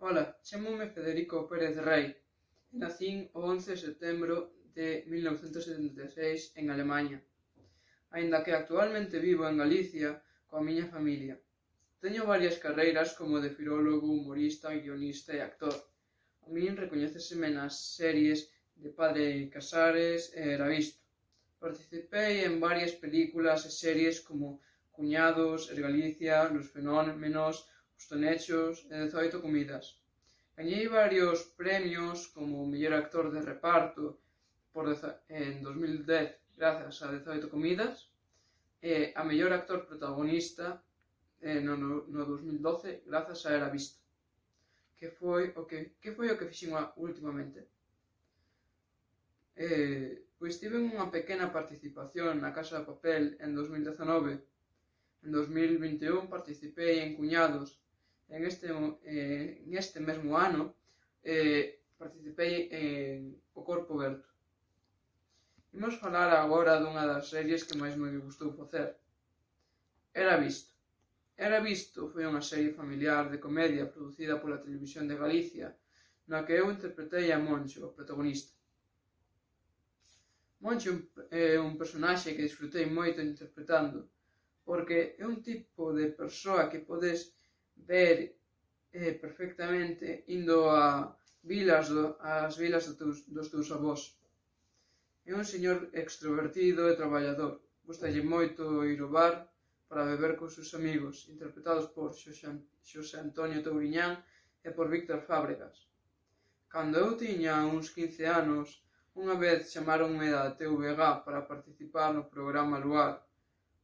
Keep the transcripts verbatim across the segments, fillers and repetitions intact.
Ola, chámome Federico Pérez Rey e nacín o once de setembro de mil novecentos setenta e seis en Alemaña, aínda que actualmente vivo en Galicia coa miña familia. Teño varias carreiras como de filólogo, humorista, guionista e actor. A min recoñéceseme nas series de Padre Casares e Era visto. Participei en varias películas e series como Cuñados, Es Galicia, Los Fenómenos, Os Tonechos e dezoito comidas. Gañei varios premios como mellor actor de reparto por en dos mil dez grazas a dezoito comidas e a mellor actor protagonista eh, no, no, no dos mil doce grazas a Era visto. Que foi o que, que foi o que fixen ultimamente? Eh, pois tive unha pequena participación na Casa de Papel en dos mil dezanove. En dos mil vinte e un participei en Cuñados. En este, eh, en este mesmo ano eh, participei en O Corpo Berto. Imos falar agora dunha das series que máis me gustou facer. Era visto. Era visto foi unha serie familiar de comedia producida pola Televisión de Galicia, na que eu interpretei a Moncho, o protagonista. Moncho é un personaxe que disfrutei moito interpretando, porque é un tipo de persoa que podes ver eh, perfectamente indo a vilas do, ás vilas do teus, dos teus avós. É un señor extrovertido e traballador. Gustalle moito ir ao bar para beber cos seus amigos, interpretados por Xosé Antonio Touriñán e por Víctor Fábregas. Cando eu tiña uns quince anos, unha vez chamaronme da T V G para participar no programa Luar.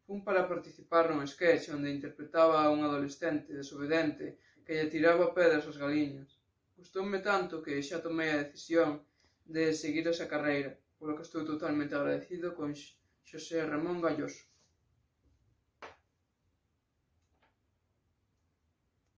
Fun para participar nun sketch onde interpretaba a un adolescente desobedente que lle tiraba pedras ás galiñas. Gustoume tanto que xa tomei a decisión de seguir esa carreira, polo que estou totalmente agradecido con Xosé Ramón Galloso.